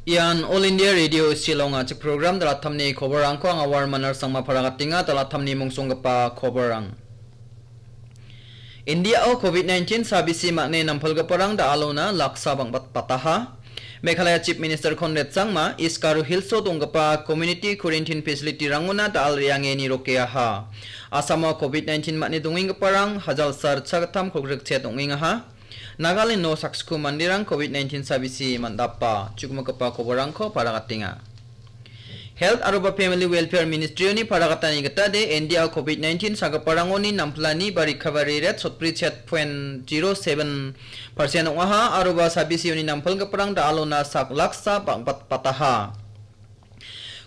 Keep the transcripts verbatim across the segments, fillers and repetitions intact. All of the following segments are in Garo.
Ian All India Radio Shillong a·chik program Dalatamni koborrangko anga Warmanar Sangma paragatenga. Dalatamni mungsonggipa koborrang. Indiao covid nineteen sabisi man·e nampalgiparang da·alona laksa bang·bat-, bataha. Meghalaya Chief Minister Conrad Sangma, East Garo Hills-o donggipa community quarantine facility-rangona da·al re·ange nirokeaha. Asamo covid nineteen man·e dongenggiparang hajalsa ritchagittam kolgrikchet ong·engaha. Nagaland-o saksko manderang covid nineteen sabisi man·dapa. Chukmikgipa koborrangko paragatenga. Health aroba Family Welfare Ministry-oni paragatani gitade, Indiao covid nineteen sagiparangoni nampilani ba recovery rate sotbri chet point zero seven percent ong·aha, aroba sabisioni nampilgiparang da·alona sak laksa bang-, bat-, bataha.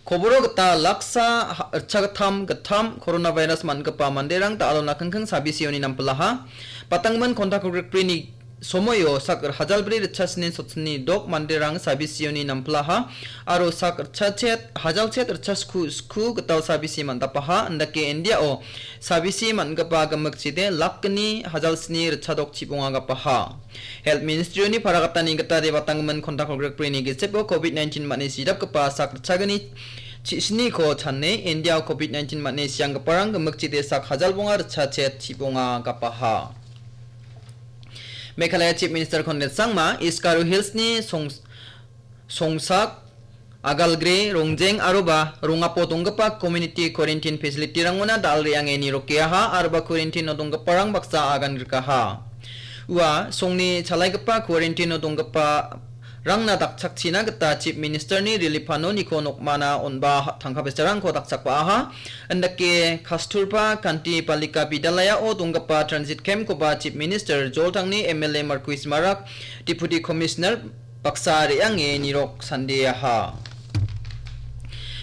Koboro gita laksa ha-, ritchagittam gittam coronavirus man·gipa manderang da·alona kingking sabisioni nampilaha. Batanggimin kontak kolgrikbrini somoio sak hajalbri ritchasni sotsni dok manderang sabisioni nampilaha, aro sak ritchachet, hajalchet ritchasku sku gital sabisi man·dapaha, indake Indiao sabisi man·gipa gimikchide lakgni hajalsni ritchadok chibonga gapaha. Health Ministry-oni paragatani gitade batanggimin kontak kolgrikbrini gisepo covid nineteen man·e sidapgipa sak ritchagni chisniko chane Indiao covid nineteen man·e sianggiparang gimikchide sak hajalbonga ritchachet chibonga gapaha. Meghalaya Chief Minister Conrad Sangma, East Garo Hills-ni Song-, Songsak, Agalgre, Rongjeng aroba Rongapo donggipa community quarantine facility-rangona da·al re·ange nirokeaha aroba quarantine-o donggiparang baksa agan rikaha. Ua songni chalaigipa quarantine-o donggipa rangna dakchakchina gita Chief Minister-ni relief fund-oniko nokmana on·ba ha-, tangka besarangko dakchakbaaha. Indake Kasturba Gandhi Balika Vidyalaya-o donggipa transit camp-koba Chief Minister Joltangni M L A Marcuise Marak, Deputy Commissioner baksa re·ange nirok sandeaha.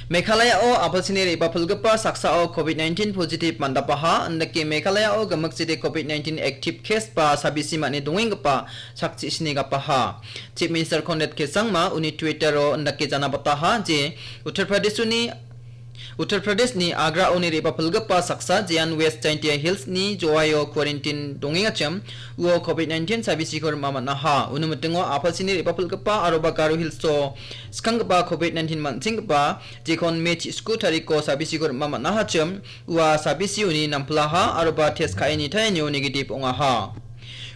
Meghalaya-o a·palchini re·bapilgipa saksao covid nineteen positive man·dapaha, indake Meghalaya-o gimikchide covid nineteen active case ba sabisi man·e dongenggipa sakchi sini gapaha. Chief Minister Conrad K Sangma uni Twitter-o indake janabataha je Uttar Pradesh-oni, Uttar Pradesh-ni Agra-oni re·bapilgipa saksa jean West Jaintia Hills-ni Jowai-o quarantine dongengachim, uo covid nineteen sabisiko rima man·aha. Uni mitingo a·palchini re·bapilgipa aroba Garo Hills-o skanggipa covid nineteen man·chenggipa jekon May chisku tariko sabisiko rima man·ahachim, ua sabisioni nampilaha aroba test ka·e nitaenio negative ong·aha.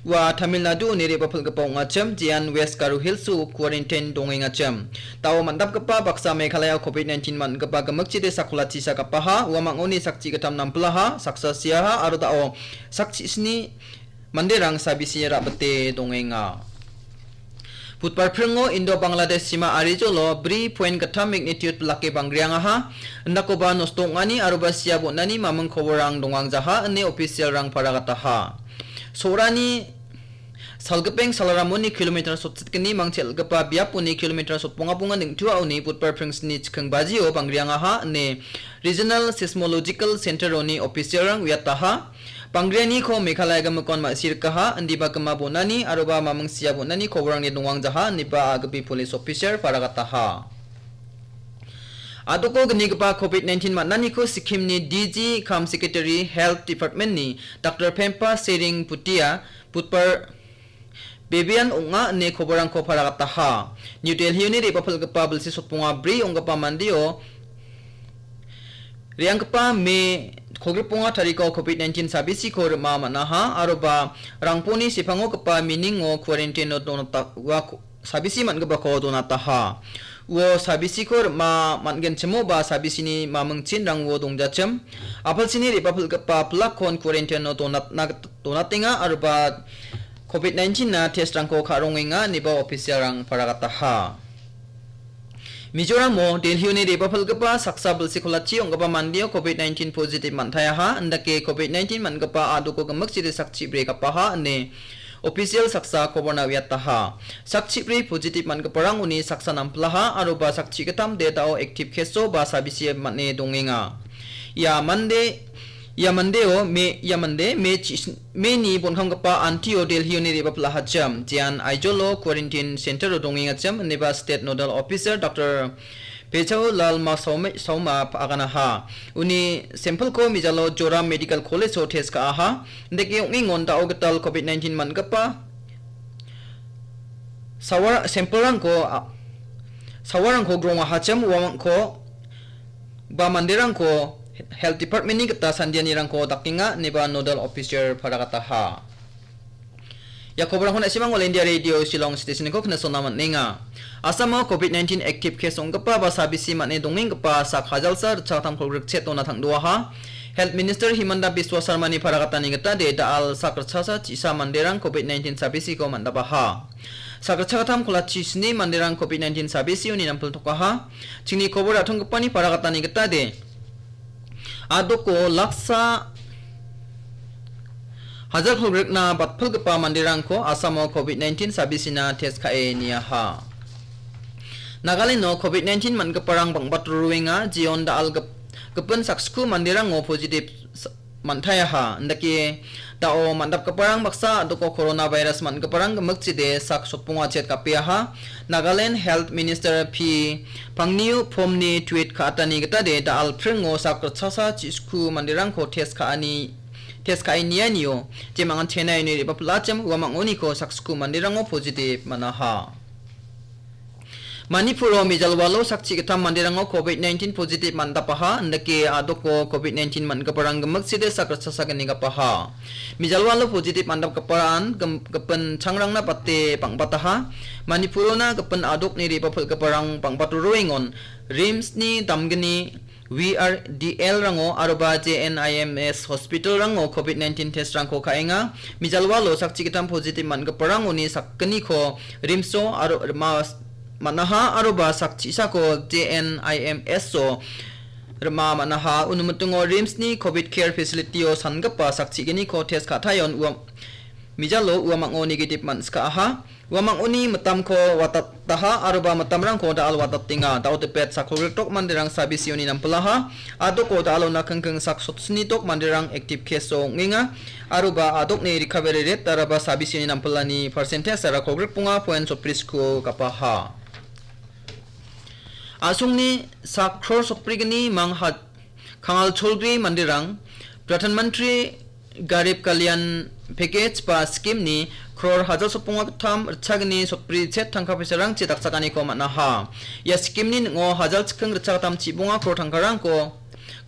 Ua Tamil Nadu-oni re·bapilgipa ong·achim, jean West Garo Hills-o quarantine dongengachim. Da·o man·dapgipa baksa Meghalaya-o covid nineteen man·gipa gimikchide sakolachi sagapaha, ua mang·oni sakchi gittam nampilaha, saksa siaha aro da·o sakchi sni manderang sabisi ra·bite dongenga. Budbar pringo Indo-Bangladesh sima arijolo bri point gittam magnitude bilake bangriangaha, indakoba nosto ong·ani aroba sia bon·ani maming koborrang dongangjaha ine official-rang paragataha. Sorani salgipeng salaramoni kilometer sotchitgni mangchelgipa biaponi kilometer sotbonga bonga neng·tuaoni Budbar pringsni chikking bajio bangriangaha ine Regional Seismological Center-oni official-rang uiataha. Bangrianiko Meghalaya gimikon ma·sirikaha, indiba gima bon·ani aroba maming sia bon·ani koborrangni dongangjaha, ineba A G P police officer paragataha. A·doko gnigipa covid nineteen man·aniko Sikkim-ni D G cum Secretary Health Department-ni Doctor Phempa Tsering Bhutia Budbar bebean ong·a ine koborrangko paragataha. New Delhi-oni re·bapilgipa bilsi sotbonga bri ong·gipa mandeo re·anggipa May kolgrikbonga tariko covid nineteen sabisiko rima man·aha aroba rangponi sepangogipa miningo quarantine-o donata-, ua ko-, sabisi man·gipako donataha. Uo sabisiko rima man·genchimoba sabisini mamingchinrang uo dongjachim. A·palchini re·bapilgipa pilakkon quarantine-o donatna git-, donatenga aroba covid nineteen-na test-rangko ka·rongenga ineba official-rang paragataha. Mizoramo Delhi-oni re·bapilgipa saksa bilsi kolachi ong·gipa mandeo covid nineteen positive man·taiaha, indake covid nineteen man·gipa a·doko gimikchide sakchi bri gapaha ine official saksa koborna uiataha. Sakchi bri positive man·giparangoni saksa nampilaha aroba sakchi gittam de da·o active case-o ba sabisi man·e dongenga. Ia mande, ia mandeo me, ia mande me chis-, May-ni bonkamgipa antio Delhi-oni re·bapilahachim, jean Aizawl-o quarantine center-o dongengachim, ineba State Nodal Officer Doctor Pechao Lal Ma Sauma, Sauma aganaha. Uni sample-ko mijalo Joram Medical College-o test ka·aha. Indake ong·engon da·o gital covid nineteen man·gipa sawar-, sample-rangko, a, Sawarangko grongahachim uamangko ba manderangko Health Department-ni gita sandianirangko dakenga ineba nodal officer paragataha. Ia koborangko na·simang All India Radio Shillong Station-ko knasona man·enga. Assamo covid nineteen active case ong·gipa ba sabisi man·e dongenggipa sak hajalsa ritchakgittam kolgrikchet dona tangdoaha. Health Minister Himanta Biswa Sarmani paragatani gita de da·al sak ritchasa chisa manderang covid nineteen sabisiko man·dabaha. Sak ritchakgittam kolachi sni manderang covid nineteen sabisioni nampiltokaha. Chingni kobor ra·tonggipani paragatani gita de. Adoko laksa hajar kolgrikna batpilgipa manderangko Assamo covid nineteen sabisina test ka·e niaha. Nagaleno covid nineteen man·giparang bang·bat ruruenga, jeon da·al gip-, gipin saksku manderango positive s-, man·taiaha. Indake da·o man·dapgiparang baksa adoko coronavirus man·giparang gimikchide sak sotbonga chet gapeaha. Nagaland Health Minister P Pangniu Phomni tweet ka·atani gitade da·al pringo sak ritchasa chisku manderangko test ka·ani, test ka·e nianio, jemangan Chennai uni re·bapil achim uamang·oniko saksku manderango positive man·aha. Manipuro mijalwalo sakchi gittam manderango covid nineteen positive man·dapaha, indake adoko covid nineteen man·giparang gimikside sak ritchasa gnigapaha. Mijalwalo positive man·dapgiparang gim-, gipin changrangna bate bang·bataha. Manipurona gipin adokni re·bapilgiparang bang·bat ruruengon RIMS-ni damgni V R D L-rango aroba J N I M S hospital-rango covid nineteen test-rangko ka·enga. Mijalwalo sakchi gittam positive man·giparangoni sakgniko RIMS-o aro rima man·aha aroba sakchisako J N I M S-o rima man·aha. Uni mitingo RIMS-ni covid care facility-o sangipa sakchigniko test ka·taion ua-, mijalo uamang·o negative man·sika·aha. Uamang·oni mitamko watataha aroba mitamrangko da·al watatenga. Da·o dipet sak kolgriktok manderang sabisioni nampilaha. Adoko da·alona kingking sak sotsnitok manderang active case-o ong·enga. Aroba adokni recovery rate daraba sabisioni nampilani percentage-ara kolgrikbonga point sotbrisku gapaha. A·songni sak kror sotbrigni mangha Kangal cholgri manderang Pradhan Mantri Garib Kalyan Package ba scheme-ni kror hajar sotbonga gittam ritchagni sotbri chet tangka paisarangchi dakchakaniko man·aha. Ia scheme-ni ning·o hajal chiking ritchagittam chibonga kror tangkarangko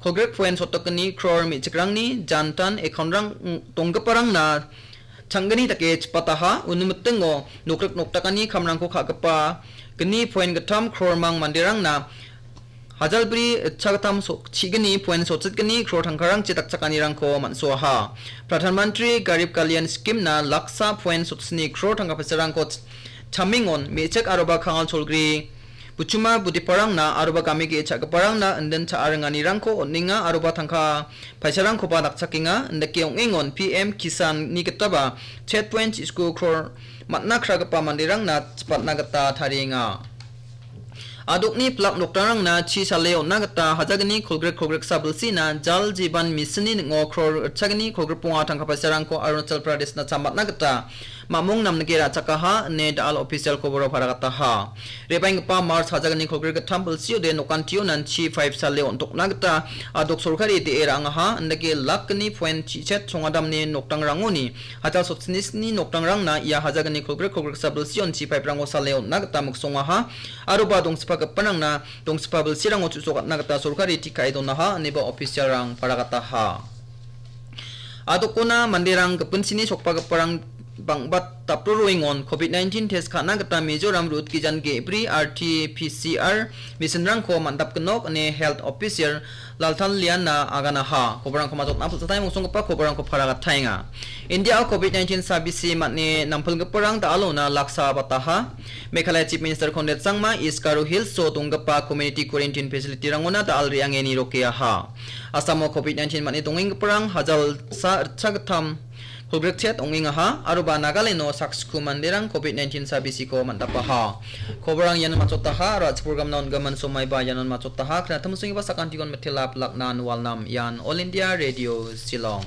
kolgrik point sotdokgni kror me·chikrangni jantan account-rang donggiparangna changgni dake chipataha. Uni mitingo nokrik nokdakani kamrangko ka·gipa gni point gittam kror mang manderangna hajalbri ritchagittam so-, chigni point sotchitgni kror tangkarangchi dakchakanirangko man·soaha. Pradhan Mantri Garib Kalyan Scheme-na laksa point sotsni kror tangka paisarangko ch-, chamengon me·chik aroba kangal cholgri buchuma budiparangna aroba game ge·e cha·giparangna indin cha·a ringanirangko on·enga aroba tangka paisarangkoba dakchakenga. Indake ong·engon P M Kisan-ni gitaba chet point chisku kror man·na kragipa manderangna chipatna gita tarienga. Adokni pilak nokdangrangna chi sale on·na gita hajagni kolgrek kolgreksa bilsina Jal Jeevan Mission-ni ning·o kror ritchagni kolgrikbonga tangka paisarangko Arunachal Pradeshna chamatna gita mamung namnike ra·chakaha ine da·al official koboro paragataha. Re·baenggipa March hajagni kolgrikgittam bilsiode nokantio nanchi five sale on·tokna gita adok sorkari de·e ra·angaha, indake lakgni point chichet songadamni nokdangrangoni hajal sotsnisni nokdangrangna ia hajagni kolgrek kolgreksa bilsionchi five-rango sale on·na gita miksongaha, aroba dongsipa gipanrangna dongsipa bilsirango chu·sokatna gita sorkari tikae donaha, ineba official-rang paragataha. Adokona manderang gipinchini sokbagiparang bang·bat dapro roengon covid nineteen test ka·na gita Mizoram rut gijan ge·bri R T P C R machine-rangko man·dapginok ine health officer Lalthanliana aganaha. Koborangko matchotna pulsatai mongsonggipa koborangko paragataenga. Indiao covid nineteen sabisi man·e nampilgiparang da·alona laksa bataha. Meghalaya Chief Minister Conrad Sangma East Garo Hills-o donggipa community quarantine facility-rangona da·al re·ange nirokeaha. Assamo covid nineteen man·e dongenggiparang hajalsa ritchagittam kolgrekchet ong·engaha, aroba Nagaleno saksku manderang covid nineteen sabisiko man·dapaha. Koborang iano matchotaha, aro a·chipur gamna on·gimin somaiba ianon matchotaha, knatimsonggipa sakantikon mitela pilakna nualnam ian All India Radio Shillong.